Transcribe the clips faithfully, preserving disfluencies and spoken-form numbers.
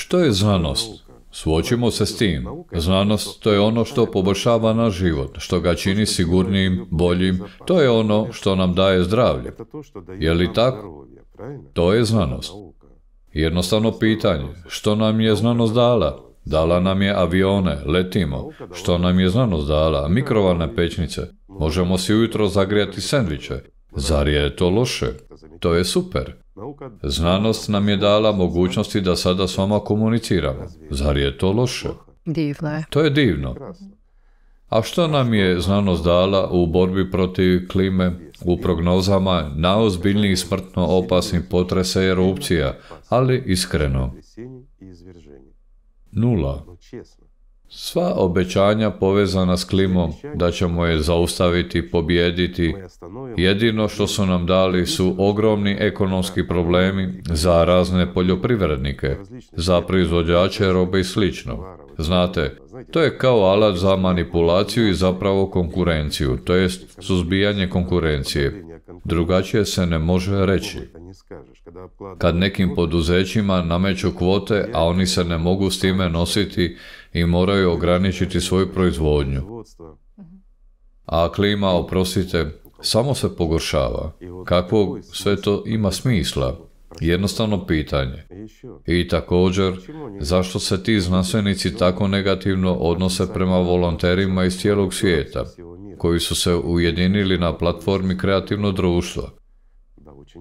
Što je znanost? Suočimo se s tim. Znanost, to je ono što poboljšava naš život, što ga čini sigurnijim, boljim, to je ono što nam daje zdravlje. Je li tako? To je znanost. Jednostavno pitanje, što nam je znanost dala? Dala nam je avione, letimo. Što nam je znanost dala? Mikrovalne pećnice. Možemo si ujutro zagrijati sendviče. Zar je to loše? To je super. Znanost nam je dala mogućnosti da sada s vama komuniciramo. Zar je to loše? Divno je. To je divno. A što nam je znanost dala u borbi protiv klime, u prognozama najozbiljnijih smrtno opasnih potresa i erupcija, ali iskreno? Nula. Sva obećanja povezana s klimom, da ćemo je zaustaviti, pobijediti, jedino što su nam dali su ogromni ekonomski problemi za razne poljoprivrednike, za proizvođače robe i slično. Znate, to je kao alat za manipulaciju i zapravo konkurenciju, to jest suzbijanje konkurencije. Drugačije se ne može reći. Kad nekim poduzećima nameću kvote, a oni se ne mogu s time nositi i moraju ograničiti svoju proizvodnju. A klima, oprostite, samo se pogoršava. Kakvog sve to ima smisla? Jednostavno pitanje. I također, zašto se ti znanstvenici tako negativno odnose prema volonterima iz cijelog svijeta, koji su se ujedinili na platformi Kreativno društvo?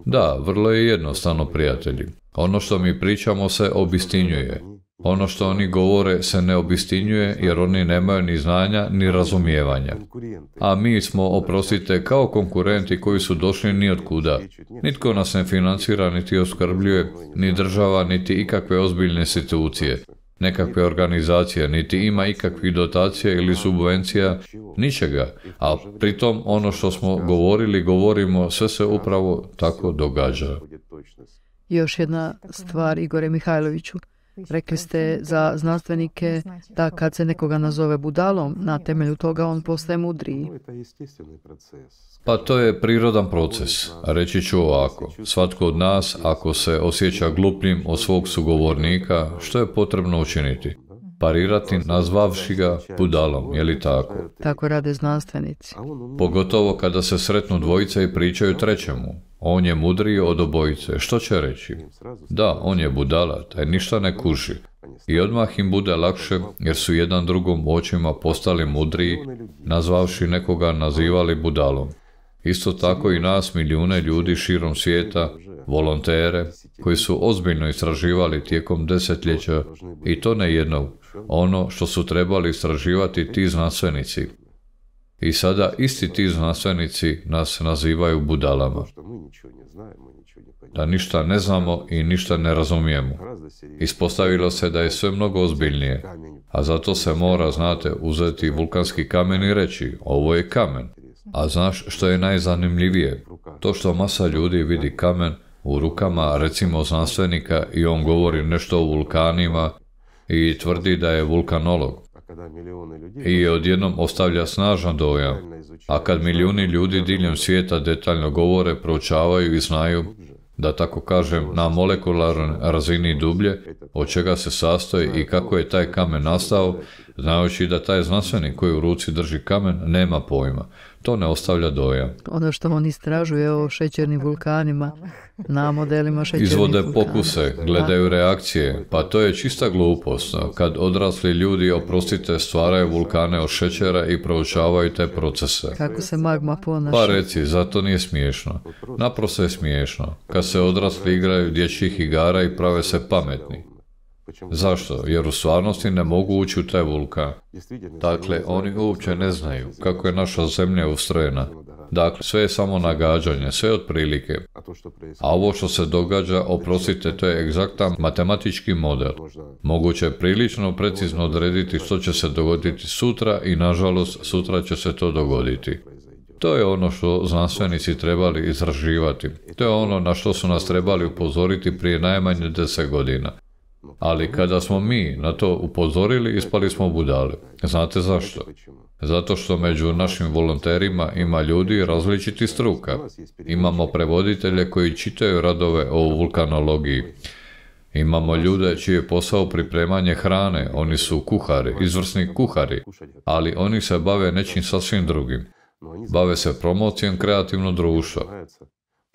Da, vrlo je jednostavno, prijatelji. Ono što mi pričamo se obistinjuje. Ono što oni govore se ne obistinjuje jer oni nemaju ni znanja ni razumijevanja. A mi smo, oprostite, kao konkurenti koji su došli ni od kuda. Nitko nas ne financira niti oskrbljuje, ni država, niti ikakve ozbiljne institucije. Nekakve organizacije, niti ima ikakvih dotacija ili subvencija, ničega. A pritom ono što smo govorili, govorimo, sve se upravo tako događa. Još jedna stvar, Igore Mihajloviću. Rekli ste za znanstvenike da kad se nekoga nazove budalom, na temelju toga on postaje mudriji. Pa to je prirodan proces. Reći ću ovako, svatko od nas, ako se osjeća glupljim od svog sugovornika, što je potrebno učiniti? Parirati nazvavši ga budalom, je li tako? Tako rade znanstvenici. Pogotovo kada se sretnu dvojice i pričaju trećemu. On je mudriji od obojice. Što će reći? Da, on je budala, taj ništa ne kuži. I odmah im bude lakše, jer su jedan drugom u očima postali mudriji, nazvavši nekoga nazivali budalom. Isto tako i nas, milijune ljudi širom svijeta, volontere, koji su ozbiljno istraživali tijekom desetljeća, i to ne jednog, ono što su trebali istraživati ti znanstvenici. I sada isti ti znanstvenici nas nazivaju budalama. Da ništa ne znamo i ništa ne razumijemo. Ispostavilo se da je sve mnogo ozbiljnije, a zato se mora, znate, uzeti vulkanski kamen i reći, ovo je kamen. A znaš što je najzanimljivije? To što masa ljudi vidi kamen u rukama, recimo znanstvenika, i on govori nešto o vulkanima i tvrdi da je vulkanolog. I odjednom ostavlja snažan dojam. A kad milijuni ljudi diljem svijeta detaljno govore, proučavaju i znaju, da tako kažem, na molekularnoj razini dublje, od čega se sastoji i kako je taj kamen nastao, znajući da taj znanstvenik koji u ruci drži kamen nema pojma. To ne ostavlja dojam. Ono što on istražuje o šećernim vulkanima, na modelima šećernih Izvode vulkana. pokuse, gledaju reakcije, pa to je čista glupost. Kad odrasli ljudi, oprostite, stvaraju vulkane od šećera i proučavaju te procese. Kako se magma ponaša. Pa reci, zato nije smiješno. Naprosto je smiješno. Kad se odrasli igraju dječjih igara i prave se pametni. Zašto? Jer u stvarnosti ne mogu ući u taj vulkan. Dakle, oni uopće ne znaju kako je naša zemlja ustrojena. Dakle, sve je samo nagađanje, sve otprilike. A ovo što se događa, oprostite, to je egzaktan matematički model. Moguće je prilično precizno odrediti što će se dogoditi sutra i, nažalost, sutra će se to dogoditi. To je ono što znanstvenici trebali istraživati. To je ono na što su nas trebali upozoriti prije najmanje deset godina. Ali kada smo mi na to upozorili, ispali smo budale. Znate zašto? Zato što među našim volonterima ima ljudi različitih struka. Imamo prevoditelje koji čitaju radove o vulkanologiji. Imamo ljude čiji je posao pripremanje hrane, oni su kuhari, izvrsni kuhari, ali oni se bave nečim sasvim drugim. Bave se promocijom kreativnog društva.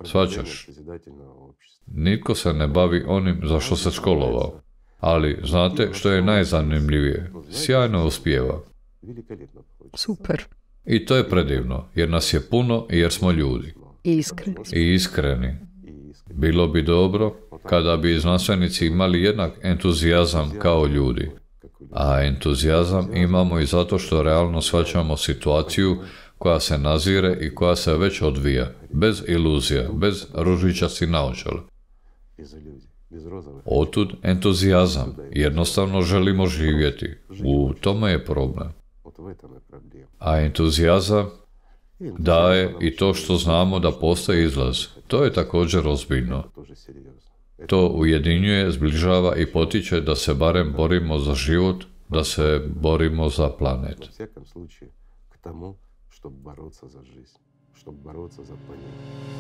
Shvaćaš? Nitko se ne bavi onim za što se školovao. Ali, znate što je najzanimljivije? Sjajno uspijeva. Super. I to je predivno, jer nas je puno i jer smo ljudi. I iskreni. I iskreni. Bilo bi dobro kada bi znanstvenici imali jednak entuzijazam kao ljudi. A entuzijazam imamo i zato što realno shvaćamo situaciju koja se nazire i koja se već odvija, bez iluzija, bez ružičastih naočala. Otud entuzijazam, jednostavno želimo živjeti. U tome je problem. A entuzijazam daje i to što znamo da postoji izlaz. To je također ozbiljno. To ujedinjuje, zbližava i potiče da se barem borimo za život, da se borimo za planet. Чтобы бороться за жизнь, чтобы бороться за планету.